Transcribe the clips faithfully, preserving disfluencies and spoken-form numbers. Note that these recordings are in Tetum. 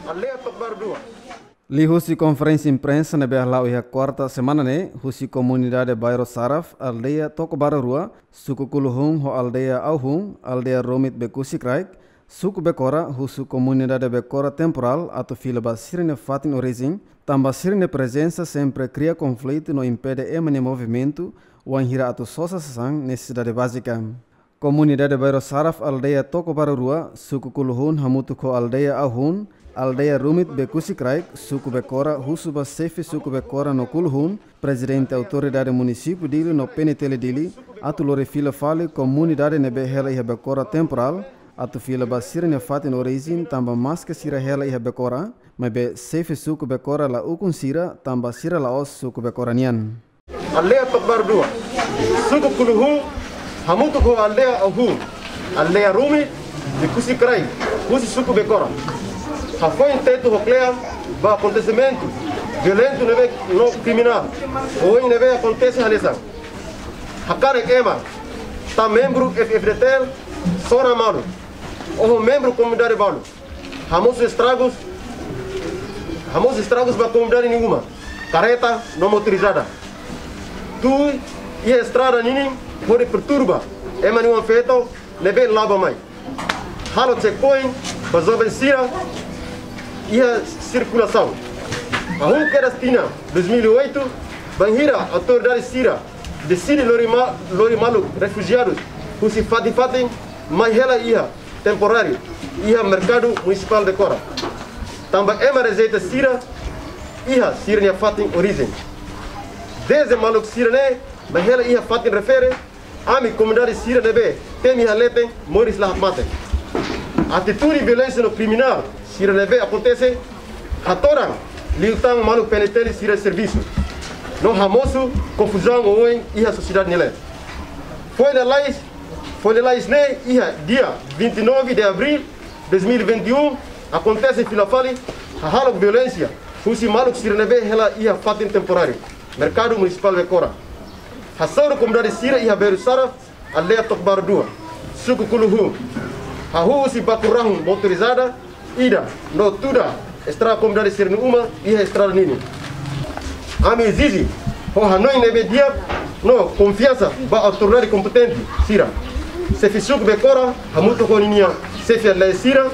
Aldeia Tokobaru dua. Liuhusi konferénsia imprensa ne'ebé hala'o iha kuarta semana ne'e, husi komunidade Bairro Saraf, aldeia Tokobaru rua, suku Kuluhun ho aldeia Auhun, aldeia Rumit Bekusi Kraik, suku Bekora, husu komunidade Bekora temporál atu fila ba sira-nia fatin orijen, tanba sira-nia prezensa sempre kria konflitu no impede ema nia movimentu, wainhira atu sosa sasán nesesidade bázika. Komunidade Bairro Saraf, aldeia Tokobaru rua, suku Kuluhun hamutuk ho aldeia Auhun, aldeia Rumit Bekusi Kraik, suku Bekora, husu ba xefe suku Bekora no Kuluhun, prezidente autoridade munisípiu Dili no P N T L Dili, atu lori fila fali komunidade ne'ebé hela iha Bekora temporál, atu fila ba sira-nia fatin orijen, tanba maske sira hela iha Bekora, maibé xefe suku Bekora la ukun sira, tanba sira la'ós suku Bekora nian. Aldeia Tokobaru dua, suku Kuluhun hamutuk ho aldeia Auhun, aldeia Rumit Bekusi Kraik, husi suku Bekora, hafoin tetu ho kle'an ba akontesimentu violentu ne'ebé no kriminál ohin ne'ebé akontese hanesan: hakanek ema tan membru F-FDTL, sona malu, ho membru komunidade balu, hamosu estragus, hamosu estragus ba komunidade nia uma, karreta no motorizada. Tuir iha estrada ninin hodi perturba ema nia uma-feto ne'ebé la'o bá mai. Halo checkpoint ba joven sira iha sirkulasaun. Hahú kedas tinan dois mil e oito, bainhira autoridade sira deside lori ma-, lori maluk refujiadu husi fatin-fatin mai hela iha temporáriu iha merkadu munisipál Bekora, tanba ema rejeita sira iha sira-nia fatin orijen. Dezde maluk sira-ne'e mai hela iha fatin refere, ami komunidade sira ne'ebé temi iha leten moris la hakmatek. Atitude violénsia no kriminál sira ne'ebé akontese hatoran liután maluk P N T L sira servisu, no hamosu konfuzaun oioin iha sosiedade nia leet. Foin lalais, foin lalais ne'e iha dia vinte e nove de abril dois mil e vinte e um, akontese fila fali hahalok violénsia husi maluk sira ne'ebé hela iha fatin temporáriu merkadu munisipál Bekora, hasoru komunidade sira iha Bairro Saraf, aldeia Tokobaru dua, suku Kuluhun, hahú husi baku rahun motorizada ida no tuda estraga komunidade sira-nia uma iha estrada ninin. Ami ezije ho hanoin ne'ebé di'ak no konfiansa ba autoridade kompetente sira, xefe suku Bekora hamutuk ho ninia xefe aldeia sira,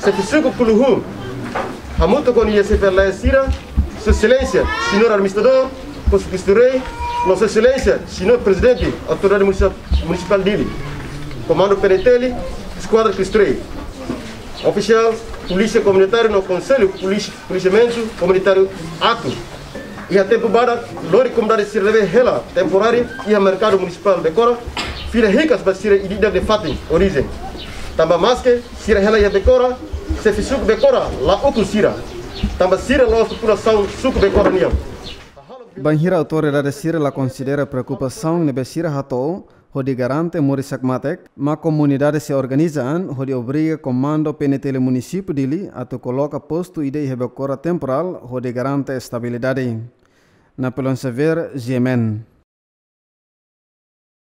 xefe suku Kuluhun hamutuk ho ninia xefe aldeia sira, Sua Exelénsia Señór Administradór, Konsellu Cristo Rei, no Sua Exelénsia Señór Prezidente Autoridade Munisi-, Munisipál Dili, Komandu P N T L, Eskuadra Cristo Rei, ofisiál Polísia Komunitária no Konsellu Polísia, Polisiamentu Komunitáriu atu, iha tempu badak, lori komunidade sira ne'ebé hela temporáriu iha merkadu munisipál Bekora fila hikas ba sira ida-idak nia fatin orijen. Tanba maske sira hela iha Bekora, xefe suku Bekora la ukun sira, tanba sira la'ós populasaun suku Bekora nian. Bainhira autoridade sira la konsidera preokupasaun ne'ebé sira hato'o hodi garante moris hakmatek, maibé komunidade sei organiza an hodi obriga komandu P N T L munisípiu Dili atu koloka postu ida iha Bekora temporál hodi garante estabilidade. Napoleão Xavier, G M N.